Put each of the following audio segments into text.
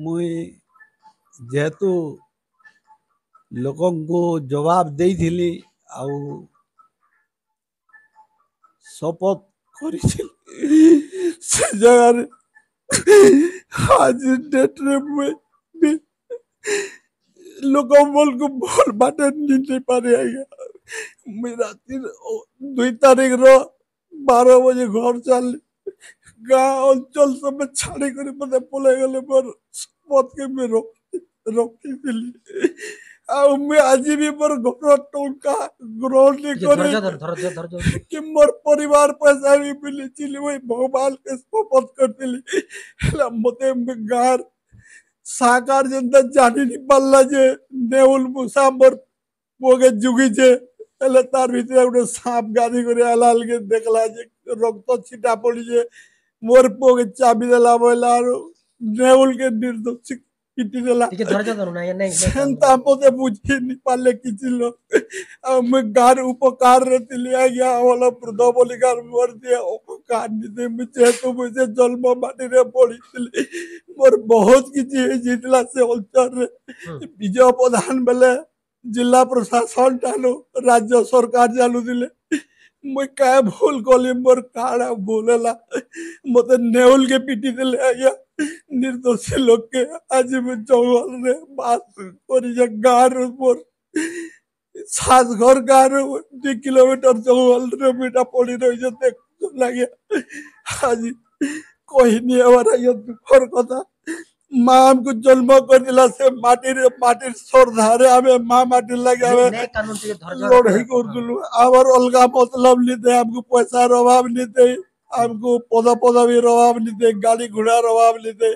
ମୁଇଁ ଯେହେତୁ ଲୋକଙ୍କୁ ଜବାବ ଦେଇଥିଲି ଆଉ ଶପଥ କରିଥିଲି, ସେ ଜାଗାରେ ଆଜି ଡେଟ୍ରେ ମୁଇଁ ବି ଲୋକମାନଙ୍କୁ ଭଲ ବାଟେ ନେଇ ପାରେ ଆଜ୍ଞା। ମୁଇଁ ରାତି 2 ତାରିଖର 12 ବଜେ ଘର ଚାଲିଲି। ଗାଁ ଅଞ୍ଚଳ ସବୁ ଛାଡ଼ି କରି ମତେ ପଳେଇ ଗଲେ। ମୋର ଶପଥକେ ମୁଇଁ ରଖିଥିଲି ଆଉ ମୁଇଁ ଆଜି ବି ମୋର ଘର ଟଙ୍କା ଗ୍ରହଣ ଟିକେ କରି ଧୈର୍ଯ୍ୟ ଧର, ଧୈର୍ଯ୍ୟ ଧୈର୍ଯ୍ୟ କି ମୋର ପରିବାର ପଇସା ବି ମିଳିଥିଲି, ମୁଇଁ ଭଗବାନକେ ଶପଥ କରିଥିଲି। ହେଲା ମତେ ଗାଁର ସାକାର ଯେନ୍ତା ଜାଣି ନି ପାରିଲା ଯେ ନେଉଲ ମୂଷା ମୋର ପୁଅକେ ଯୁଗିଛେ, ହେଲେ ତାର ଭିତରେ ଗୋଟେ ସାପ ଗାଧି କରି ଆଲା ବେଲକେ ଦେଖଲା ଯେ ରକ୍ତ ଛିଟା ପଡିଛେ, ମୋର ପୁଅକେ ଚାବି ଦେଲା ବୋଇଲା ଆରୁ ନେଉଲକେ ନିର୍ଦ୍ଦୋଷୀ ପିଟି ଦେଲା। ଟିକେ ଧୈର୍ଯ୍ୟ ଧରୁନ ଆଜ୍ଞା। ନାଇଁ ସେନ୍ତା ମତେ ବୁଝି ନି ପାରିଲେ କିଛି ଲୋକ। ଆଉ ମୁଇଁ ଗାଁର ଉପକାରରେ ଥିଲି ଆଜ୍ଞା। ଭଲ ବୃଦ୍ଧ ବୋଲିକାର ମୋର ଦିଏ ଅପକାର ନିଦେ। ମୁଇଁ ଯେହେତୁ ମୁଇଁ ସେ ଜନ୍ମ ମାଟିରେ ପଢିଥିଲି, ମୋର ବହୁତ କିଛି ହେଇଯାଇଥିଲା ସେ ଅଞ୍ଚଳରେ। ବିଜୟ ପ୍ରଧାନ ବେଲେ ଜିଲ୍ଲା ପ୍ରଶାସନ ଠାନୁ ରାଜ୍ୟ ସରକାର ଚାଲୁଥିଲେ। ମୁଇଁ କାଁ ଭୁଲ କଲି, ମୋର କାଣା ଭୁଲ ହେଲା, ମତେ ନେଉଲକେ ପିଟି ଦେଲେ ଆଜ୍ଞା, ନିର୍ଦ୍ଦୋଷୀ ଲୋକକେ। ଆଜି ମୁଁ ଜଙ୍ଗଲରେ ବାସ କରିଛେ। ଗାଁରୁ ମୋର ସାତଘର ଗାଁରୁ 2 କିଲୋମିଟର ଜଙ୍ଗଲରେ ମୁଁ ଏଇଟା ପଡି ରହିଛେ, ଦେଖୁଛନ୍ ଆଜ୍ଞା। ଆଜି କହିନି ହେବାର ଆଜ୍ଞା ଦୁଃଖର କଥା। ମା ଆମକୁ ଜନ୍ମ କରିଥିଲା ସେ ମାଟିରେ, ମାଟିର ଶ୍ରଦ୍ଧାରେ ଆମେ ମା ମାଟି ଲାଗି ଆମେ ନାଇଁ କାନୁନ, ଟିକେ ଧୈର୍ଯ୍ୟ ଲଢେଇ କରୁଥିଲୁ। ଆମର ଅଲଗା ମତଲବ ନିତେ, ଆମକୁ ପଇସାର ଅଭାବ ନିତେ, ଆମକୁ ପଦ ପଦବୀର ଅଭାବ ନିତେ, ଗାଡି ଘୋଡ଼ାର ଅଭାବ ନିତେ।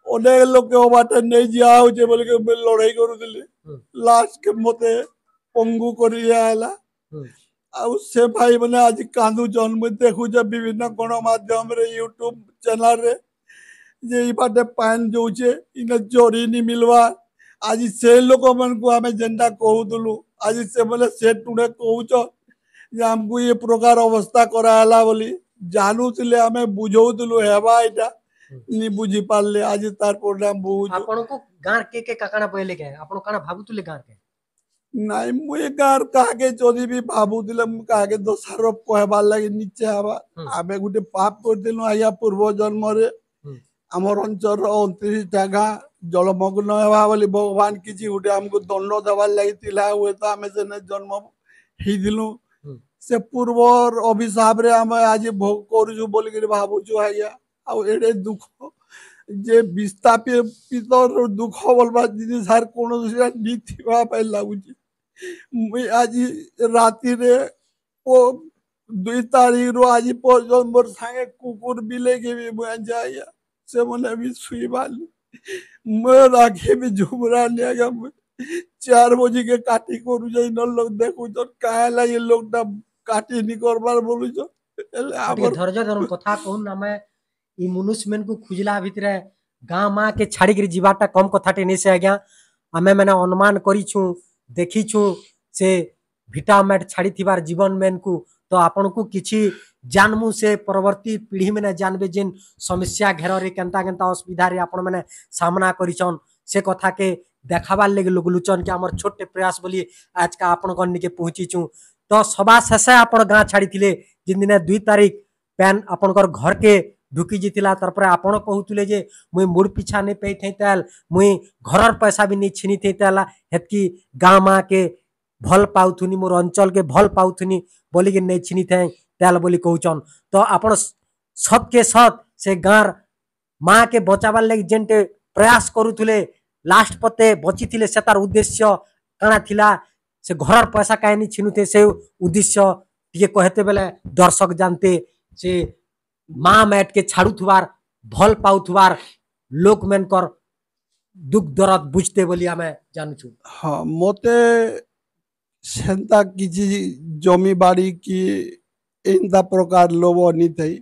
ଅନେକ ଲୋକ ବାଟେ ନେଇ ଯିଆ ହଉଛେ ବୋଲିକି ମୁଇଁ ଲଢେଇ କରୁଥିଲି। ଲାଷ୍ଟ କେ ମତେ ପଙ୍ଗୁ କରି ଦିଆ ହେଲା। ଆଉ ସେ ଭାଇ ମାନେ ଆଜି କାନ୍ଦୁଛନ୍। ମୁଇଁ ଦେଖୁଛେ ବିଭିନ୍ନ ଗଣମାଧ୍ୟମରେ, ୟୁଟ୍ୟୁବ ଚ୍ୟାନେଲରେ ଯେ ଏଇ ବାଟେ ପାଏନ୍ ଯାଉଛେ, ଇନେ ଜରି ନି ମିଲବା। ଆଜି ସେ ଲୋକମାନଙ୍କୁ ଆମେ ଯେନ୍ଟା କହୁଥିଲୁ, ଆଜି ସେମାନେ ସେ ଟୁଣେ କହୁଛନ୍ ଯେ ଆମକୁ ଏ ପ୍ରକାର ଅବସ୍ଥା କରାହେଲା ବୋଲି। ଜାନୁଥିଲେ, ଆମେ ବୁଝଉଥିଲୁ ହେବା, ଏଇଟା ନି ବୁଝି ପାରିଲେ, ଆଜି ତାର ପରିଣାମ ଭୋଗୁଛୁ। ଆପଣଙ୍କୁ ଗାଁ କେ କେ କାକାଣା ପହିଲେ କେ ଆପଣ କାଣା ଭାବୁଥିଲେ ଗାଁ କେ? ନାଇଁ, ମୁଇଁ ଗାଁର କାହାକେ ଯଦି ବି ଭାବୁଥିଲେ, ମୁଁ କାହାକେ ଦୋଷାରୋପ କହିବାର ଲାଗି ନିଚେ ହେବା। ଆମେ ଗୋଟେ ପାପ କରିଥିଲୁ ଆଜ୍ଞା ପୂର୍ବ ଜନ୍ମରେ। ଆମର ଅଞ୍ଚଳର 29ଟା ଗାଁ ଜଳମଗ୍ନ ହେବା ବୋଲି ଭଗବାନ କିଛି ଗୋଟେ ଆମକୁ ଦଣ୍ଡ ଦେବାର ଲାଗି ଥିଲା ହୁଏତ, ଆମେ ସେନେ ଜନ୍ମ ହେଇଥିଲୁ। ସେ ପୂର୍ବର ଅଭିଶାପରେ ଆମେ ଆଜି ଭୋଗ କରୁଛୁ ବୋଲିକିରି ଭାବୁଛୁ ଆଜ୍ଞା। ଆଉ ଏଡ଼େ ଦୁଃଖ ଯେ ବିସ୍ଥାପିତ ଦୁଃଖ ବୋଲବା ଜିନିଷ ଆର୍ କୌଣସି ନି ଥିବା ପାଇଁ ଲାଗୁଛି। ମୁଇଁ ଆଜି ରାତିରେ ଓ 2 ତାରିଖରୁ ଆଜି ପର୍ଯ୍ୟନ୍ତ ମୋର ସାଙ୍ଗେ କୁକୁର ବିଲେଇକେ ବି ମୁଇଁ ଆଣିଛେ ଆଜ୍ଞା, ସେମାନେ ବି ଶୁଇବାନି। ମୋର ଆଖି ବି ଝୁମରାନି ଆଜ୍ଞା। ମୁଇଁ 4 ବଜିକେ କାଟି କରୁଛେ, ଇନ ଲୋକ ଦେଖୁଛନ୍, କାଁ ହେଲା ଏ ଲୋକଟା କାଟି ନି କରବାର ବୋଲୁଛନ୍। ହେଲେ ଟିକେ ଆମର ଧୈର୍ଯ୍ୟ ଧରୁନ୍, କଥା କହୁନ୍। ଆମେ ଇ ମନୁଷ୍ୟ ମାନଙ୍କୁ ଖୁଜଲା ଭିତରେ ଗାଁ ମା କେ ଛାଡ଼ିକିରି ଯିବାଟା କମ କଥାଟେ ନେଇ ସେ ଆଜ୍ଞା। ଆମେ ମାନେ ଅନୁମାନ କରିଛୁ, ଦେଖିଛୁ ସେ ଭିଟା ମାଟ ଛାଡ଼ିଥିବାର ଜୀବନ ମେନକୁ। ତ ଆପଣଙ୍କୁ କିଛି ଜାନମୁ, ସେ ପରବର୍ତ୍ତୀ ପିଢ଼ି ମାନେ ଜାନବେ ଯେନ୍ ସମସ୍ୟା ଘେରରେ କେନ୍ତା କେନ୍ତା ଅସୁବିଧାରେ ଆପଣ ମାନେ ସାମ୍ନା କରିଛନ୍, ସେ କଥାକେ ଦେখাবার ଲାଗି ଲୋକ ଲୁଚନ୍ କି ଆମର ଛୋଟ ପ୍ରୟାସ ବୋଲି ଆଜକା ଆପଣଙ୍କ ନିକେ ପହଞ୍ଚିଛୁ। ତ ସବା ଶେଷେ ଆପଣ ଗାଁ ଛାଡ଼ିଥିଲେ ଯେନ୍ ଦିନେ 2 ତାରିଖ ପ୍ୟାନ୍ ଆପଣଙ୍କର ଘରକେ ଢୁକି ଯାଇଥିଲା। ତାରପରେ ଆପଣ କହୁଥିଲେ ଯେ ମୁଇଁ ମୁଡ଼ ପିଛା ନେଇ ପେଇଥାଇ ତେଲ, ମୁଇଁ ଘରର ପଇସା ବି ନେଇ ଛିନିଥାଇ ତେଲ, ହେତ୍କି ଗାଁ ମା କେ ଭଲ ପାଉଥୁନି, ମୋର ଅଞ୍ଚଳକେ ଭଲ ପାଉଥୁନି ବୋଲିକି ନେଇ ଛିନିଥାଏ ତେଲ ବୋଲି କହୁଛନ୍। ତ ଆପଣ ସତକେ ସତ ସେ ଗାଁର ମା କେ ବଚାବାର ଲାଗି ଯେନ୍ଟେ ପ୍ରୟାସ କରୁଥିଲେ, ଲାଷ୍ଟ ପତେ ବଚିଥିଲେ, ସେ ତାର ଉଦ୍ଦେଶ୍ୟ କାଣା ଥିଲା, ସେ ଘରର ପଇସା କାହିଁ ନି ଛିନୁथे, ସେ ଉଦ୍ଦେଶ୍ୟ ଟିକେ କହେତେ ବେଲେ ଦର୍ଶକ ଜାନତେ, ସେ ମା ମାଟ କେ ଛାଡୁଥିବାର ଭଲ ପାଉଥିବାର ଲୋକମାନଙ୍କର ଦୁଃଖ ଦରଦ ବୁଝତେ ବୋଲି ଆମେ ଜାଣୁଛୁ। ହଁ, ମତେ ସେନ୍ତା କିଛି ଜମି ବାଡ଼ି କି ଏନ୍ତା ପ୍ରକାର ଲୋଭ ନି ଥାଇ।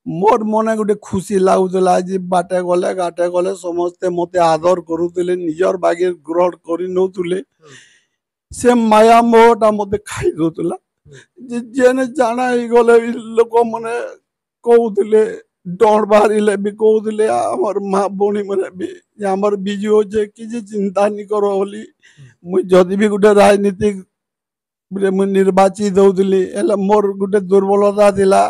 ମୋର ମନେ ଗୋଟେ ଖୁସି ଲାଗୁଥିଲା ଯେ ବାଟେ ଗଲେ ଘାଟେ ଗଲେ ସମସ୍ତେ ମତେ ଆଦର କରୁଥିଲେ, ନିଜର ବାଗିର ଗ୍ରହଣ କରି ନଉଥିଲେ। ସେ ମାୟା ମୋହଟା ମତେ ଖାଇ ଦଉଥିଲା ଯେ ଯେନେ ଜାଣା ହେଇଗଲେ ବି ଲୋକମାନେ କହୁଥିଲେ ଡର ବାହାରିଲେ ବି କହୁଥିଲେ ଆମର ମା ଭଉଣୀ ମାନେ ବି ଯେ ଆମର ବିଜୁ ହଉଛେ, କିଛି ଚିନ୍ତା ନି କର ବୋଲି। ମୁଇଁ ଯଦି ବି ଗୋଟେ ରାଜନୀତିକ ମୁଇଁ ନିର୍ବାଚିତ ହଉଥିଲି, ହେଲେ ମୋର ଗୋଟେ ଦୁର୍ବଳତା ଥିଲା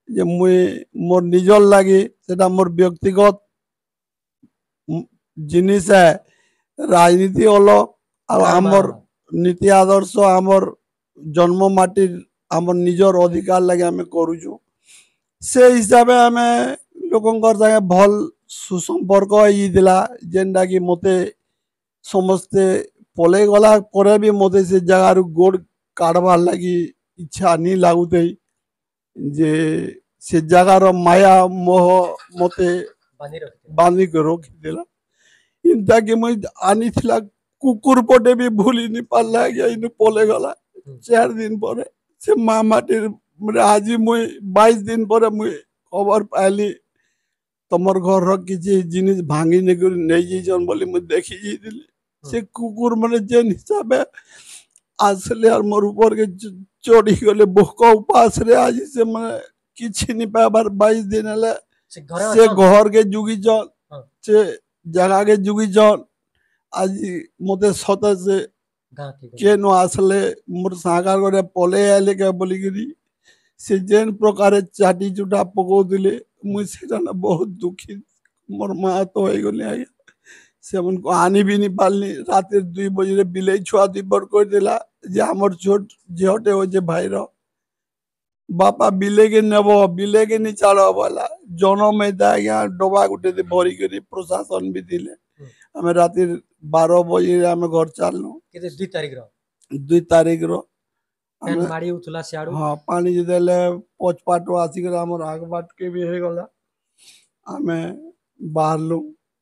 ଯେ ମୁଇଁ ମୋର ନିଜର ଲାଗି, ସେଟା ମୋର ବ୍ୟକ୍ତିଗତ ଜିନିଷ ହେ, ରାଜନୀତି ଅଲଗ ଆଉ ଆମର ନୀତି ଆଦର୍ଶ, ଆମର ଜନ୍ମ ମାଟିର ଆମର ନିଜର ଅଧିକାର ଲାଗି ଆମେ କରୁଛୁ। ସେ ହିସାବେ ଆମେ ଲୋକଙ୍କର ସାଙ୍ଗେ ଭଲ ସୁସମ୍ପର୍କ ହେଇଯାଇଥିଲା, ଯେନ୍ଟାକି ମତେ ସମସ୍ତେ ପଲେଇ ଗଲା ପରେ ବି ମତେ ସେ ଜାଗାରୁ ଗୋଡ଼ କାଢ଼ବାର୍ ଲାଗି ଇଚ୍ଛା ନି ଲାଗୁଥାଇ, ଯେ ସେ ଜାଗାର ମାୟା ମୋହ ମତେ ବାନ୍ଧିକି ରଖିଥିଲା। ଏନ୍ତାକି ମୁଇଁ ଆନିଥିଲା କୁକୁର ପଟେ ବି ଭୁଲି ନି ପାରିଲା ଆଜ୍ଞା। ଇନୁ ପଲେଇ ଗଲା 4 ଦିନ ପରେ ସେ ମା ମାଟିର। ଆଜି ମୁଇଁ 22 ଦିନ ପରେ ମୁଇଁ ଖବର ପାଇଲି, ତମର ଘରର କିଛି ଜିନିଷ ଭାଙ୍ଗି ନେଇକରି ନେଇଯାଇଛନ୍ ବୋଲି ମୁଇଁ ଦେଖି ଯାଇଥିଲି। ସେ କୁକୁର ମାନେ ଯେନ୍ ହିସାବେ ଆସିଲେ ଆର୍ ମୋର ଉପରକେ ଚଢ଼ିଗଲେ ଭୋକ ଉପାସରେ, ଆଜି ସେମାନେ କିଛି ନି ପାଇବାର 22 ଦିନ ହେଲେ। ସେ ଘରକେ ଯୁଗିଛନ୍, ସେ ଜାଗାକେ ଯୁଗିଛନ୍। ଆଜି ମତେ ସତେ ସେ କେନୁ ଆସିଲେ, ମୋର ସାଙ୍ଗାର ଘରେ ପଲେଇ ଆଇଲେ କେ ବୋଲିକିରି ସେ ଯେନ୍ ପ୍ରକାର ଚାଟି ଚୁଟା ପକଉଥିଲେ, ମୁଇଁ ସେଟା ବହୁତ ଦୁଃଖୀ ମୋର ମା ତ ହେଇଗଲି ଆଜ୍ଞା। ସେମାନଙ୍କୁ ଆନି ବି ନି ପାରିଲି। ରାତିରେ 2 ବଜେ ବିଲେଇ ଛୁଆ 2 ପଟ କରିଦେଲା ଯେ ଆମର ଛୋଟ ଝିଅଟେ ହଉଛେ ଭାଇର, ବାପା ବିଲେଇକେ ନେବ, ବିଲେଇକେ ନି ଛାଡ଼ ବୋଇଲା। ଜନମ ହେଇତା ଆଜ୍ଞା, ଡବା ଗୋଟେ ଭରିକରି ପ୍ରଶାସନ ବି ଥିଲେ, ଆମେ ରାତି 12 ବଜେ ଆମେ ଘର ଚାଲଲୁ। 2 ତାରିଖର? 2 ତାରିଖର। ମାଡ଼ି ହଉଥିଲା ସିଆଡୁ? ହଁ, ପାଣି ଯେତେବେଲେ ପଛ ପାଟୁ ଆସିକରି ଆମର ଆଗ ବାଟକେ ବି ହେଇଗଲା, ଆମେ ବାହାରଲୁ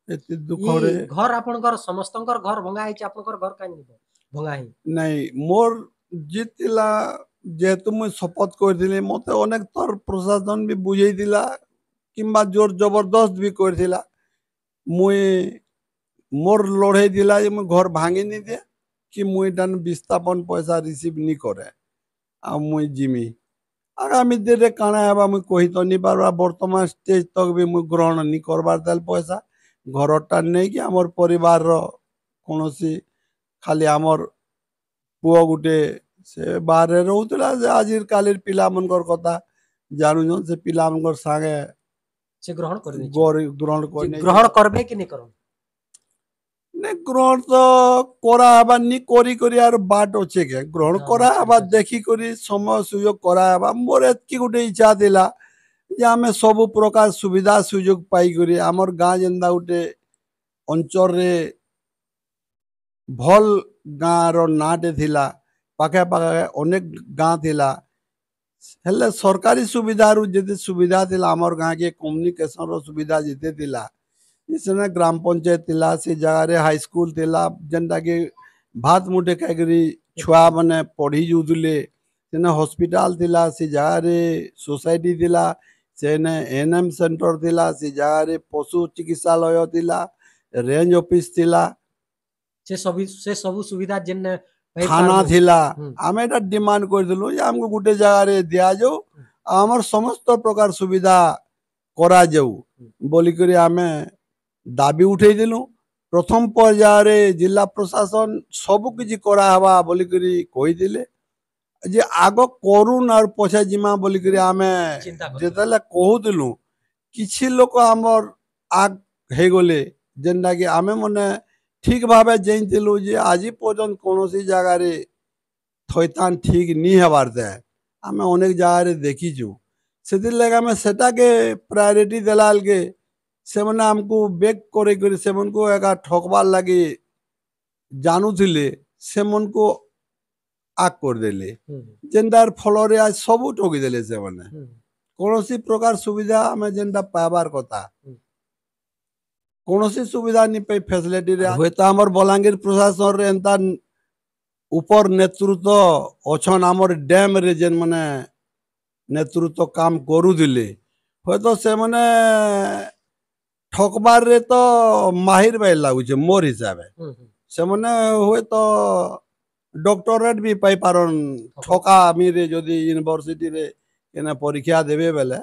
ଏତେ ଦୁଃଖରେ। ଘର ଆପଣଙ୍କର ସମସ୍ତଙ୍କର ଘର ଭଙ୍ଗା ହେଇଛି, ଆପଣଙ୍କର ଘର କାହିଁ ଭଙ୍ଗା ହେଇ? ନାଇଁ, ମୋର ଜିତ୍ ଥିଲା, ଯେହେତୁ ମୁଇଁ ଶପଥ କରିଥିଲି। ମତେ ଅନେକ ଥର ପ୍ରଶାସନ ବି ବୁଝେଇଥିଲା କିମ୍ବା ଜୋର ଜବରଦସ୍ତ ବି କରିଥିଲା। ମୁଇଁ ମୋର ଲଢ଼େଇ ଥିଲା ଯେ ମୁଇଁ ଘର ଭାଙ୍ଗି ନି ଦିଏ କି ମୁଇଁ ଏଇଟା ବିସ୍ଥାପନ ପଇସା ରିସିଭ୍ ନି କରେ ଆଉ ମୁଇଁ ଜିମି। ଆଗାମୀ ଦିନରେ କାଣା ହେବା ମୁଇଁ କହି ତ ନି ପାରବା। ବର୍ତ୍ତମାନ ଷ୍ଟେଜ୍ ତକ୍ ବି ମୁଇଁ ଗ୍ରହଣ ନି କରବାର୍ ତାହେଲେ ପଇସା ଘରଟା ନେଇକି ଆମର ପରିବାରର କୌଣସି, ଖାଲି ଆମର ପୁଅ ଗୋଟେ, ସେ ବାହାରେ ରହୁଥିଲା। ସେ ଆଜି କାଲିର ପିଲାମାନଙ୍କର କଥା ଜାଣୁଛନ୍, ସେ ପିଲାମାନଙ୍କର ସାଙ୍ଗେ ସେ ଗ୍ରହଣ କରି ଗ୍ରହଣ କରି ଗ୍ରହଣ କରବେ କି ନି କରନ୍? ନାଇଁ, ଗ୍ରହଣ ତ କରାହେବା ନି କରି କରି ଆର ବାଟ ଅଛେ କେ? ଗ୍ରହଣ କରାହେବା, ଦେଖିକରି ସମୟ ସୁଯୋଗ କରାହେବା। ମୋର ଏତ୍କି ଗୋଟେ ଇଚ୍ଛା ଥିଲା ଯେ ଆମେ ସବୁ ପ୍ରକାର ସୁବିଧା ସୁଯୋଗ ପାଇକରି ଆମର ଗାଁ ଯେନ୍ତା ଗୋଟେ ଅଞ୍ଚଳରେ ଭଲ୍ ଗାଁର ନାଁଟେ ଥିଲା, ପାଖେ ପାଖେ ଅନେକ ଗାଁ ଥିଲା, ହେଲେ ସରକାରୀ ସୁବିଧାରୁ ଯେତେ ସୁବିଧା ଥିଲା ଆମର ଗାଁକେ, କମ୍ୟୁନିକେସନର ସୁବିଧା ଯେତେ ଥିଲା, ସେନେ ଗ୍ରାମ ପଞ୍ଚାୟତ ଥିଲା, ସେ ଜାଗାରେ ହାଇସ୍କୁଲ ଥିଲା, ଯେନ୍ଟାକି ଭାତ ମୁଠେ ଖାଇକରି ଛୁଆମାନେ ପଢ଼ି ଯାଉଥିଲେ, ସେନେ ହସ୍ପିଟାଲ ଥିଲା, ସେ ଜାଗାରେ ସୋସାଇଟି ଥିଲା, ସେନେ ଏନ୍ ଏମ୍ ସେଣ୍ଟର ଥିଲା, ସେ ଜାଗାରେ ପଶୁ ଚିକିତ୍ସାଳୟ ଥିଲା, ରେଞ୍ଜ ଅଫିସ ଥିଲା, ସେ ସବୁ ସୁବିଧା ଯେନ୍ ଥାନା ଥିଲା। ଆମେ ଏଟା ଡିମାଣ୍ଡ କରିଥିଲୁ ଯେ ଆମକୁ ଗୋଟେ ଜାଗାରେ ଦିଆଯାଉ, ଆମର ସମସ୍ତ ପ୍ରକାର ସୁବିଧା କରାଯାଉ ବୋଲିକରି ଆମେ ଦାବି ଉଠେଇଥିଲୁ। ପ୍ରଥମ ପର୍ଯ୍ୟାୟରେ ଜିଲ୍ଲା ପ୍ରଶାସନ ସବୁ କିଛି କରାହେବା ବୋଲିକରି କହିଥିଲେ ଯେ ଆଗ କରୁନ୍ ଆର୍ ପଛେ ଯିମା ବୋଲିକରି ଆମେ ଯେତେବେଳେ କହୁଥିଲୁ, କିଛି ଲୋକ ଆମର ଆଗ ହେଇଗଲେ, ଯେନ୍ଟାକି ଆମେ ମାନେ ଠିକ ଭାବେ ଜାଣିଥିଲୁ ଯେ ଆଜି ପର୍ଯ୍ୟନ୍ତ କୌଣସି ଜାଗାରେ ଥଇଥାନ ଠିକ ନି ହେବାର୍ ତେ, ଆମେ ଅନେକ ଜାଗାରେ ଦେଖିଛୁ। ସେଥିର୍ଲାଗି ଆମେ ସେଟାକେ ପ୍ରାୟୋରିଟି ଦେଲା ବେଲକେ ସେମାନେ ଆମକୁ ବେକ୍ କରି କରି ସେମାନଙ୍କୁ ଏକା ଠକବାର୍ ଲାଗି ଜାଣୁଥିଲେ, ସେମାନଙ୍କୁ ଆଗ କରିଦେଲେ, ଯେନ୍ଟାର ଫଳରେ ଆଜ ସବୁ ଠକିଦେଲେ ସେମାନେ। କୌଣସି ପ୍ରକାର ସୁବିଧା ଆମେ ଯେନ୍ଟା ପାଇବାର କଥା, କୌଣସି ସୁବିଧା ନି ପାଇ ଫେସିଲିଟିରେ। ହୁଏତ ଆମର ବଲାଙ୍ଗୀର ପ୍ରଶାସନରେ ଏନ୍ତା ଉପର ନେତୃତ୍ୱ ଅଛନ୍, ଆମର ଡ୍ୟାମରେ ଯେନ୍ ମାନେ ନେତୃତ୍ୱ କାମ କରୁଥିଲେ, ହୁଏତ ସେମାନେ ଠକବାରରେ ତ ମାହିର ବାଇ ଲାଗୁଛେ ମୋର ହିସାବେ। ସେମାନେ ହୁଏତ ଡକ୍ଟରେଟ୍ ବି ପାଇପାରନ୍ ଠକାମିରେ, ଯଦି ୟୁନିଭର୍ସିଟିରେ କେନେ ପରୀକ୍ଷା ଦେବେ ବେଲେ,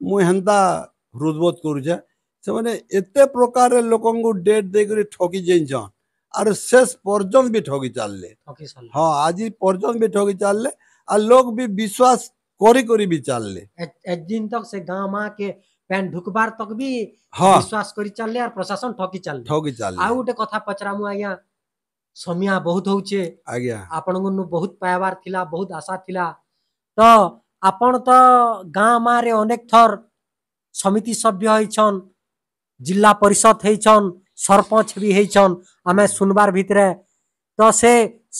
ମୁଇଁ ହେନ୍ତା ହୃଦବୋଧ କରୁଛେ। ସେମାନେ ଏତେ ପ୍ରକାର ଲୋକଙ୍କୁ ଡେଟ୍ ଦେଇକରି ଠକି ଯାଇଛନ୍, ଆର୍ ଶେଷ ପର୍ଯ୍ୟନ୍ତ ବି ଠକି ଚାଲିଲେ। ହଁ, ଆଜି ପର୍ଯ୍ୟନ୍ତ ବି ଠକି ଚାଲିଲେ, ଆର୍ ଲୋକ ବି ବିଶ୍ୱାସ କରି କରି ବି ଚାଲିଲେ। ଦିନ ତକ ସେ ଗାଁ ମା କେ ପ୍ୟାନ୍ ଢୁକବାର ତକ ବି ବିଶ୍ୱାସ କରି ଚାଲିଲେ, ଆର୍ ପ୍ରଶାସନ ଠକି ଚାଲିଲେ, ଠକି ଚାଲିଲେ। ଆଉ ଗୋଟେ କଥା ପଚରାମୁ ଆଜ୍ଞା, ସମିଆ ବହୁତ ହଉଛେ ଆଜ୍ଞା, ଆପଣଙ୍କୁ ବହୁତ ପାଇବାର ଥିଲା, ବହୁତ ଆଶା ଥିଲା, ତ ଆପଣ ତ ଗାଁ ମାରେ ଅନେକ ଥର ସମିତି ସଭ୍ୟ ହେଇଛନ୍, ଜିଲ୍ଲା ପରିଷଦ ହେଇଛନ୍, ସରପଞ୍ଚ ବି ହେଇଛନ୍, ଆମେ ଶୁନବାର ଭିତରେ ତ ସେ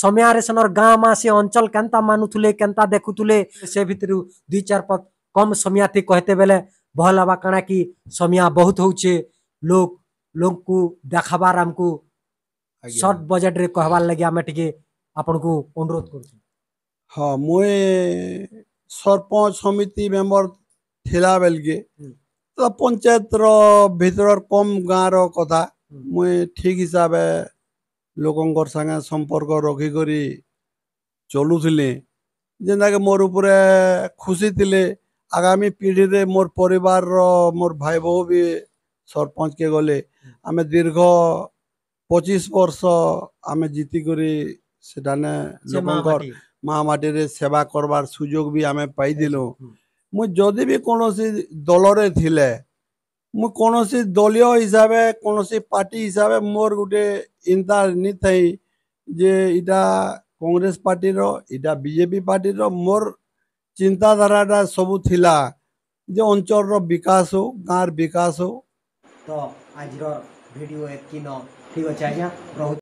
ସମୟରେ ସେନର ଗାଁ ମା ସେ ଅଞ୍ଚଳ କେନ୍ତା ମାନୁଥିଲେ, କେନ୍ତା ଦେଖୁଥିଲେ, ସେ ଭିତରୁ ଦୁଇ ଚାର ପଦ କମ ସମିଆତି କହତେ ବେଲେ ଭଲ ହେବା। କାଣା କି ସମିଆ ବହୁତ ହଉଛେ, ଲୋକ ଲୋକକୁ ଦେଖାବାର ଆମକୁ ସର୍ଟ ବଜେଟରେ କହିବାର ଲାଗି ଆମେ ଟିକେ ଆପଣଙ୍କୁ ଅନୁରୋଧ କରୁଛୁ। ହଁ, ମୁଇଁ ସରପଞ୍ଚ ସମିତି ମେମ୍ବର ଥିଲା ବେଲକେ ତ ପଞ୍ଚାୟତର ଭିତର କମ ଗାଁର କଥା ମୁଇଁ ଠିକ ହିସାବେ ଲୋକଙ୍କର ସାଙ୍ଗେ ସମ୍ପର୍କ ରଖିକରି ଚଲୁଥିଲି, ଯେନ୍ତାକି ମୋର୍ ଉପରେ ଖୁସି ଥିଲେ। ଆଗାମୀ ପିଢ଼ିରେ ମୋର୍ ପରିବାରର ମୋର୍ ଭାଇ ବୋହୂ ବି ସରପଞ୍ଚକେ ଗଲେ। ଆମେ ଦୀର୍ଘ 25 ବର୍ଷ ଆମେ ଜିତିକରି ସେଠାନେ ଲୋକଙ୍କର ମା ମାଟିରେ ସେବା କରବାର ସୁଯୋଗ ବି ଆମେ ପାଇଥିଲୁ। ମୁଁ ଯଦି ବି କୌଣସି ଦଳରେ ଥିଲେ, ମୁଁ କୌଣସି ଦଳୀୟ ହିସାବେ, କୌଣସି ପାର୍ଟି ହିସାବେ ମୋର୍ ଗୋଟେ ଇନ୍ତା ନି ଥାଇ ଯେ ଇଟା କଂଗ୍ରେସ ପାର୍ଟିର, ଇଟା ବିଜେପି ପାର୍ଟିର। ମୋର୍ ଚିନ୍ତାଧାରାଟା ସବୁ ଥିଲା ଯେ ଅଞ୍ଚଳର ବିକାଶ ହଉ, ଗାଁର ବିକାଶ ହଉ। ତ ଆଜିର ଭିଡ଼ିଓ ଏତ୍କି ନ, ଠିକ୍ ଅଛି ଆଜ୍ଞା, ରହୁଛି।